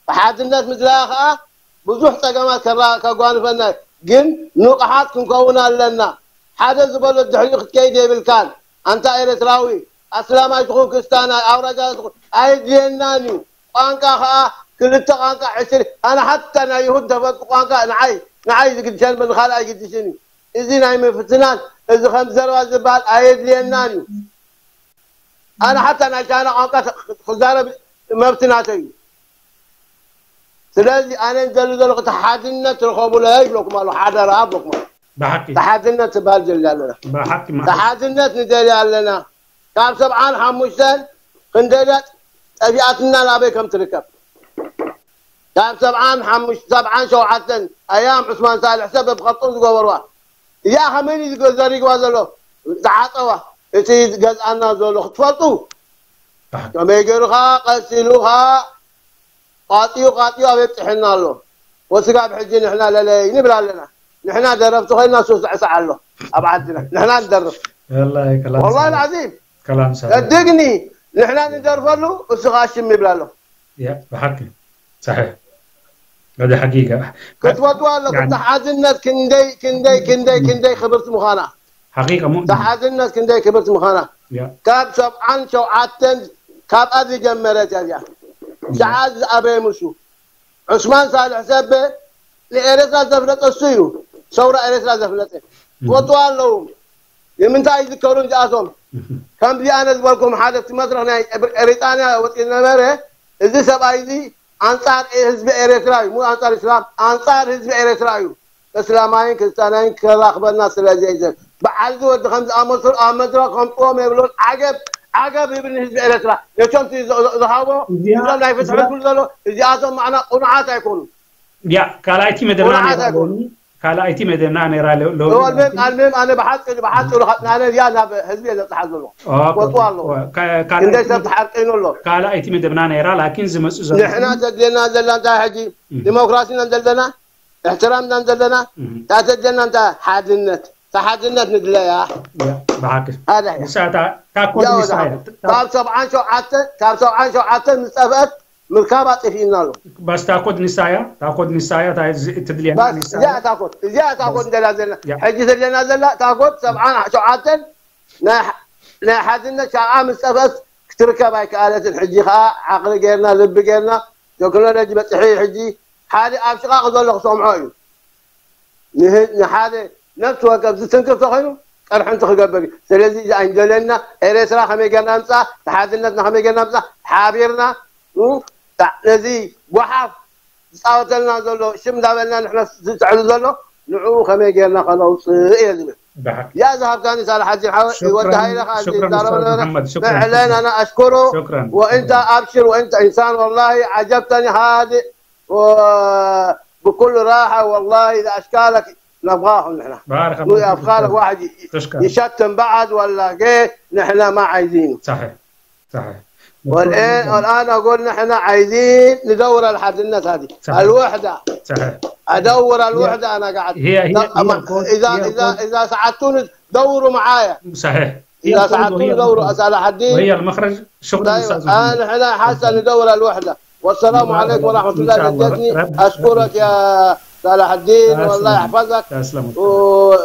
ብሓድነት ምድላያ ከዓ ብዙሕ ፀገማት ከራ- ከጓንፈና እዩ። ግን ንቑሓት ክንከውን ኣለና። ሓደ ዝበሎ ድሕሪኡ ክትከይድ የብልካን። ኣንታ ኤርትራዊ ኣስላማይ ትኹን ክርስታናይ ኣውራጃ ትኹን ኣይድልየናን እዩ። ቋንቋ ከዓ ክልተ ቋንቋ ዕስሪ ኣነ ሓታ ናይ ይሁድ ተፈልጡ ቋንቋ ንዓይ ንዓይ ዝግድሸን ብንኻልእ ኣይግድሽን እዩ። እዚ ናይ ምፍትናን እዚ ከም ዘረባ ዝበሃል ኣየድልየናን እዩ። ኣነ ሓታ ናይ ቻይና ቋንቋ ክዛረብ መብቲ ናተይ እዩ። ስለዚ ኣነ ንደሊ ዘለኹ እቲ ሓድነት ርኸቡለይ ይብለኩም ኣለኹ፣ ሓደራ ይብለኩም ኣለኹ። ብሓቂ እቲ ሓድነት ዝበሃል ደሊ ኣለና። ብሓቂ እቲ ሓድነት ንደሊ ኣለና። ካብ ሰብዓን ሓሙሽተን ክንደልያ ጠፊኣትና ናበይ ከም ትርከብ ካብ ሰብዓን ሓሙሽተ ሰብዓን ሸውዓተን ኣያም ዑስማን ሳልሕ ሰብ ብኸብጦም ዝገበርዋ እዚኣ ከመይ እዩ ዝገ- ዘሪግዋ ዘሎ ዝዓፀዋ እቲ ገዝኣና ዘሎ ክትፈልጡ ከመይ ገይሩኻ ቀሲሉኻ ቃጢዩ ቃጢዩ ኣበይ ብፅሕና ኣሎ ወስጋብ ሕጂ ንሕና ለለይ ንብል ኣለና ንሕና ደረፍቲ ኮይና ሱስ ዕሳዕ ኣሎ ኣብ ዓድና ንሕና ንደርፍ ወላሂ ከላም ወላሂ ሰላም። ልዓዚም ከላም ሰላም። ቀድግኒ ንሕና ንደርፈሉ እሱ ከዓ ሽም ይብል ኣሎ ያ ብሓቂ ሰሒሕ ወደ ሓቂቃ ክትፈልጥዋ ኣለኩም ያኒ- ተሓዝነት ክንደይ ክንደይ ክንደይ ክንደይ ክብርቲ ምዃና ሓቂቃ ሙእሚን ተሓዝነት ክንደይ ክብርቲ ምዃና ያ ካብ ሰብዓን ሸውዓተን ካብኣ ዝጀመረት እያ እዚኣ ሸዓ ዝኣበየ ምሱ ዑስማን ሳልሕ ሰበ ንኤረትራ ዘፍለጠ እሱ እዩ ሰውራ ኤረትራ ዘፍለጠ ትወጥዋ ኣለዉ ንምንታይ ይዝከሩ እዚኣቶም ከምዚ ኣነ ዝበልኩም ሓደ እቲ መስረኽ ናይ ብሪጣንያ ወፂኡ ነበረ እዚ ሰብኣይ እዚ ኣንፃር ህዝቢ ኤረትራ እዩ ሙ ኣንፃር እስላም ኣንፃር ህዝቢ ኤረትራ እዩ እስላማይን ክርስትያናይን ከራኽበና ስለ ዘይዘን በዓል እዚ ወዲ ከም ዝኣመሰሉ ኣብ መድረኽ ከምፅዎም የብሎን ዓገብ ዓገብ ይብል ንህዝቢ ኤረትራ ነቶም ዝሃቦ እዚኦም ናይ ፍትሒ ዝብል ዘሎ እዚኣቶም ማዕና ቁኑዓት ኣይኮኑን ያ ካልኣይቲ መደብና ቁኑዓት ነይራ ኣይኮኑን ካልኣይቲ መደብና ነይራ ሎ- ሎ- እወ ኣልሜም ኣልሜም ኣነ ብሓፂ ብሓፂ ሉካ ናነ እዚኣ ናብ ህዝቢ እየ ዘብፅሓ ዘሎ ወጡ ኣለዎ ክንደይ ሰብ ተሓርቀይኑ ኣሎ ካልኣይቲ መደብና ነይራ ላኪን ዝመፁ ዘሎ ንሕና ተድልየና ዘለና እንታይ ሕጂ ዲሞክራሲ ኢና ዘለና እሕትራም ኢና ዘለና እንታይ ተድልየና እንታይ ሓድነት ተሓድነት ንድለያ ብሓቂ ሓደ እያ ንሳ እታ እታ ኮድ ያው ንሳ እያ ካብ ሰብዓን ሸውዓተ ካብ ሰብዓን ሸውዓተ ዝጠፍአት ምርካብ ኣጥፊእና ኣሎ በስ እታ ኮድ ንሳ እያ እታ ኮድ ንሳ እያ እታ ዝ- እትድልየና ባስ ንሳ እዚኣ እያ እታ ኮድ እዚኣ እታ ኮድ እንደላ ዘለና ያ። ሕጂ ዘለና ዘላ እታ ኮድ ሰብዓን ሸውዓተን ናይ ሕ- ናይ ሓድነት ሻብዓ ምስ ጠፍአት ክትርከብ ኣይከኣለትን ሕጂ ከዓ ዓቕሊ ጌርና ልቢ ጌርና ቴክኖሎጂ በፅሒ ሕጂ ሓደ ኣብ ሽቓቕ ዘሎ ክሰምዖ እዩ ንህ- ንሓደ ነፍሲ ወከፍ ዝትንክፍ ተኮይኑ ቀርሕንቲ ክገብር እዩ ስለዚ እዚ ኣይንደለና ኤርትራ ከመይ ጌርና ምፃ ተሓድነትና ከመይ ጌርና ምፃ ሓቢርና እ፣ ታ- ነዚ ጓሓፍ ዝፃወተልና ዘሎ ሽም እንዳበልና ንሕና ዝትዕሉ ዘሎ ንዕኡ ከመይ ጌርና ከነውፅእ እየ ዝብል ብሓቂ يا ذهب كان صلاح الدين حاوي شكرا ودها لك شكرا ضرب استاذ لنا محمد شكرا فعلا انا اشكره شكرا وانت ابشر وانت انسان والله عجبتني هذه و- بكل راحه والله اذا اشكالك نبغاهم نحن بارك الله فيك افكارك أستاذ. واحد ي- تشكر يشتم بعض ولا كيف نحن ما عايزينه صحيح صحيح والان والان اقول نحن عايزين ندور الحدنات هذه صحيح. الوحده صحيح ادور الوحده انا قاعد هي هي هي طب الكود اذا هي اذا الكود اذا ساعدتوني دوروا معايا صحيح هي اذا الكود وهي ساعدتوني دوروا المخرج صلاح الدين وهي المخرج شكرا طيب استاذ محمد انا احنا حاسه ندور الوحده والسلام بارك عليكم الله ورحمه فيك. إن الله شاء الله. جدتني رب- اشكرك يا صلاح الدين تسلم. والله يحفظك تسلم و-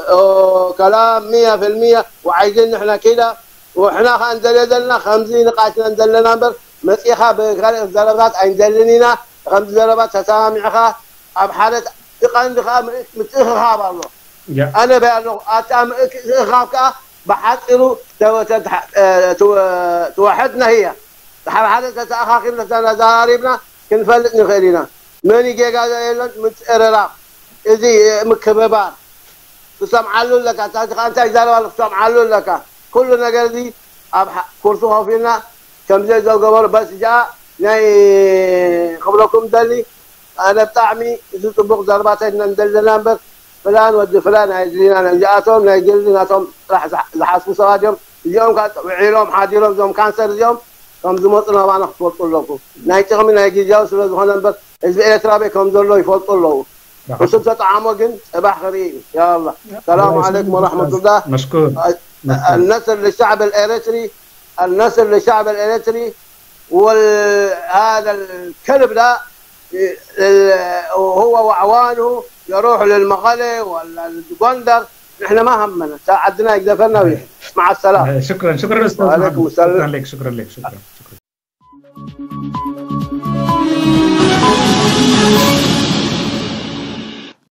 وكلام مية في المية وعايزين نحن كده واحنا خا ندلدلنا خمزين نقاشنا ندلنا نمبر مسيخا بكالئ زربات عين دلنينا خمز زربات تسامعها اب حالة تقن دخا متخخاب الله يا ኣነ በያለኹ ኣታ ምእክኻብ ከዓ ብሓፂሩ ተወ- ተድሓ- እ፣ ትወ- ትወሐድና ህያ ድሓር ሓደ ተተኣኻኺብና ተዛራሪብና ክንፈልጥ ንኽእል ኢና መን ጌጋ የለን ምትእርራብ እዚ ምክብባር ትሰምዓሉ ኣለካ እታ ከዓ እንታይ ይዛረብ ኣሎ ትሰምዓሉ ኣለካ ኩሉ ነገር እዚ ኣብ ሓ- ኩርሲ ኮፍ ኢልና ከምዚ ዘገበሩ በስ እዚኣ ናይ ክብለኩም ደሊ ኣነ ብጣዕሚ እዚ ፅቡቅ ዘረባታት ኢና ንደሊ ዘለና እምበር ፍላን ወዲ ፍላን ኣየድልዩናን እዮም እዚኣቶም ናይ ግሊ ናቶም ጥራሕ ዝሓ- ዝሓስቡ ሰባት እዮም እዚኦም ከዓ ውዒሎም ሓዲሮም እዞም ካንሰር እዚኦም ከም ዝመፁ ናባና ክትፈልጡ ኣለኩም ናይ ጥቕሚ ናይ ግዝያዊ ስለ ዝኾነ እምበር ህዝቢ ኤርትራ በይ ከም ዘሎ ይፈልጡ ኣለዉ እሱ ተጠዓሞ ግን ፅባሕ ክርኢ እዩ ያ ኣላ ሰላሙ ዓለይኩም ወረሕመቱላህ مشكور النصر للشعب الاريتري النصر للشعب الاريتري وهذا الكلب ده هو واعوانه يروح للمغلي ولا الجندر نحن ما همنا ساعدنا يقذفنا ويحن مع السلامه شكرا شكرا استاذ وعليكم محمد. السلام. شكرا لك شكرا لك شكرا شكرا